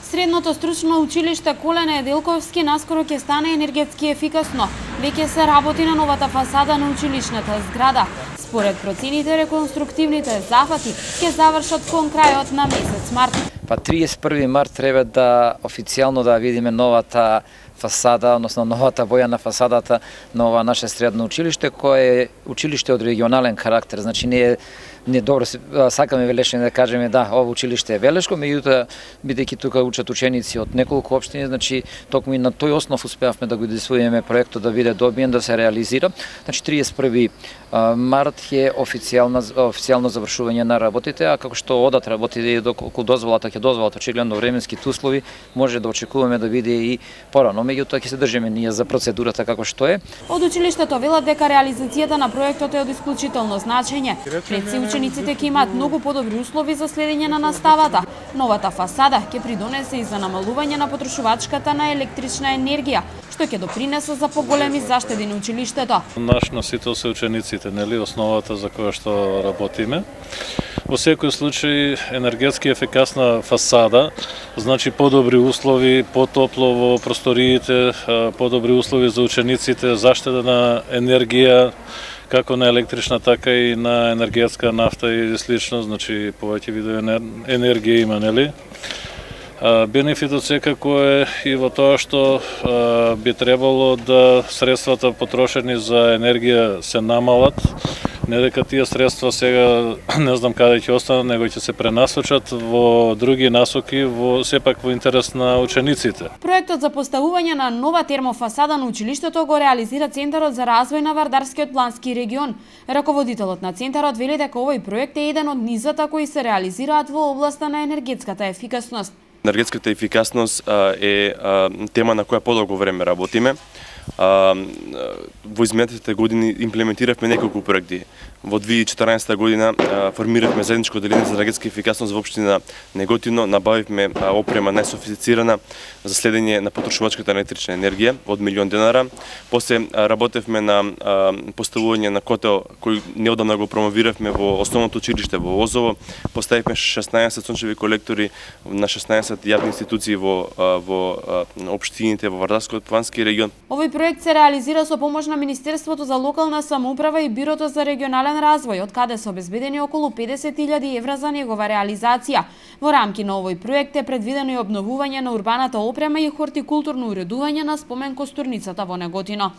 Средното стручно училиште Коле Неделковски наскоро ќе стане енергетски ефикасно. Веќе се работи на новата фасада на училишната зграда. Според процените, реконструктивните зафати ќе завршат кон крајот на месец март. Па 31 март треба да официјално да видиме новата фасада, односно новата боја на фасадата на ова наше средно училиште, кое е училиште од регионален карактер. Значи не добро сакаме велешни да кажеме да, ова училиште е велешко, меѓутоа бидејќи тука учат ученици од неколку општини, значи токму и на тој основ успеавме да го изисуваме проектот да биде добиен, да се реализира. Значи 31 март е официјално завршување на работите, а како што одат работите и доколку дозволата ќе дозволат очигледно временските услови, може да очекуваме да биде и порано, меѓутоа ќе се држиме ние за процедурата како што е. Од училиштето велат дека реализацијата на проектот е од исклучително значење. Учениците ќе имаат многу подобри услови за следење на наставата. Новата фасада ќе придонесе и за намалување на потрошувачката на електрична енергија, што ќе допринесе за поголеми заштеди на училиштето. Наш носител се учениците, нели, основата за која што работиме. Во секој случај енергетски ефикасна фасада, значи подобри услови, потопло во просториите, подобри услови за учениците, заштеда на енергија, како на електрична, така и на енергетска нафта и слично, значи повеќе видови енергија има, нели? Бенефитот секако е и во тоа што би требало да средствата потрошени за енергија се намалат, не дека тие средства сега не знам каде ќе останат, него ќе се пренасочат во други насоки, сепак во интерес на учениците. Проектот за поставување на нова термофасада на училиштето го реализира Центарот за развој на Вардарскиот плански регион. Раководителот на центарот вели дека овој проект е еден од низата кои се реализираат во областа на енергетската ефикасност. Енергетската ефикасност е тема на која подолго време работиме. Во изминатите години имплементиравме неколку проекти. Во 2014 година формиравме заедничко одделение за енергетска ефикасност во општина Неготино, набавивме опрема најсофистицирана за следење на потрошувачката на електрична енергија од $1.000.000. После работевме на поставување на котел кој неодамна го промовиравме во основното училиште во Озово. Поставивме 16 сончеви колектори на 16 јавни институции во општините во Вардарскиот плански регион. Овој проект се реализира со помош на Министерството за локална самоуправа и Бирото за регионален развој, од каде се обезбедени околу 50.000 евра за негова реализација. Во рамки на овој проект е предвидено и обновување на урбаната опрема и хортикултурно уредување на спомен костурницата во Неготино.